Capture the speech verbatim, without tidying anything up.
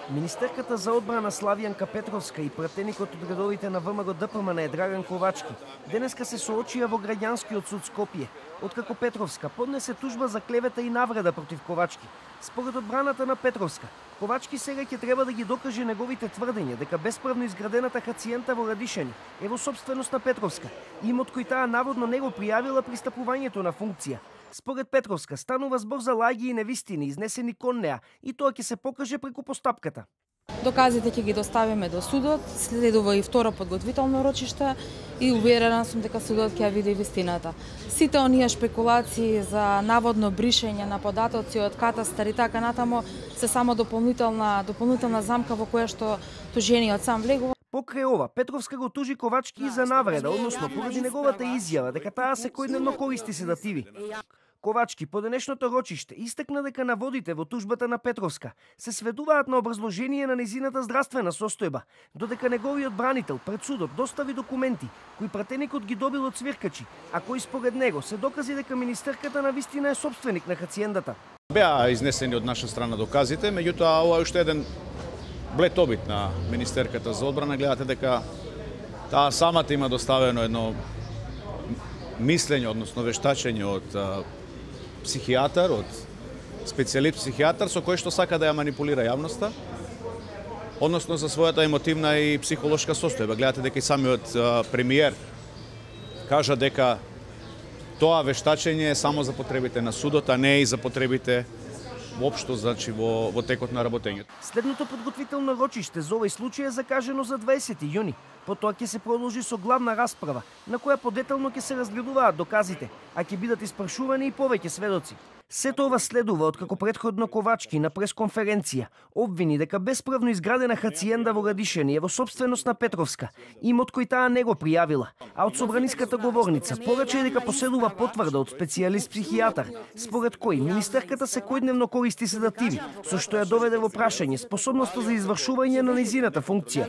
Министерката за одбрана Славјанка Петровска и пратеникот од редовите на ВМРО Д П М Н Драган Ковачки денеска се соочија во граѓанскиот суд Скопје, откако Петровска поднесе тужба за клевета и навреда против Ковачки. Според одбраната на Петровска, Ковачки сега ќе треба да ги докаже неговите тврдења дека бесправно изградената хацијента во Радишани е во собственост на Петровска, имот кој таа наводно не го пријавила при стапувањето на функција. Според Петровска станува збор за лаги и невистини изнесени кон неа и тоа ќе се покаже преку постапката. Доказите ќе ги доставиме до судот, следува и второ подготвително рочиште и уверена сум дека судот ќе ја види вистината. Сите оние шпекулации за наводно бришење на податоци од катастар и така натаму се само дополнителна дополнителна замка во која што тужениот сам влегува. Покрај ова, Петровска го тужи Ковачки и за навреда, односно поради неговата изјава дека таа секојдневно користи седативи. Ковачки по денешното рочиште истакна дека наводите во тужбата на Петровска се сведуваат на образложение на незината здравствена состојба, додека неговиот бранител пред судот достави документи кои пратеникот ги добил од цвиркачи, а кои според него се докази дека министерката на вистина е собственик на хациендата. Беа изнесени од наша страна доказите, меѓутоа ова е уште еден блед обид на министерката за одбрана. Гледате дека таа самата има доставено едно мислење, односно вештачење од психијатар, од специјалист психијатар со кој што сака да ја манипулира јавноста, односно за својата емотивна и психолошка состојба. Гледате дека и самиот премиер кажа дека тоа вештачење е само за потребите на судот, а не и за потребите воопшто, значи во, во текот на работењето. Следното подготвително рочиште за овој случај е закажено за дваесети јуни. Потоа ќе се продолжи со главна расправа, на која подетално ќе се разгледуваат доказите, а ќе бидат испрашувани и повеќе сведоци. Сето ова следува откако претходно Ковачки на пресконференција обвини дека бесправно изградена хациенда во Радишани е во собственост на Петровска, имот кој таа не го пријавила, а од собраниската говорница порача дека поседува потврда од специјалист психијатар, според кој министерката секојдневно користи седативи, со што ја доведе во прашање способноста за извршување на нејзината функција.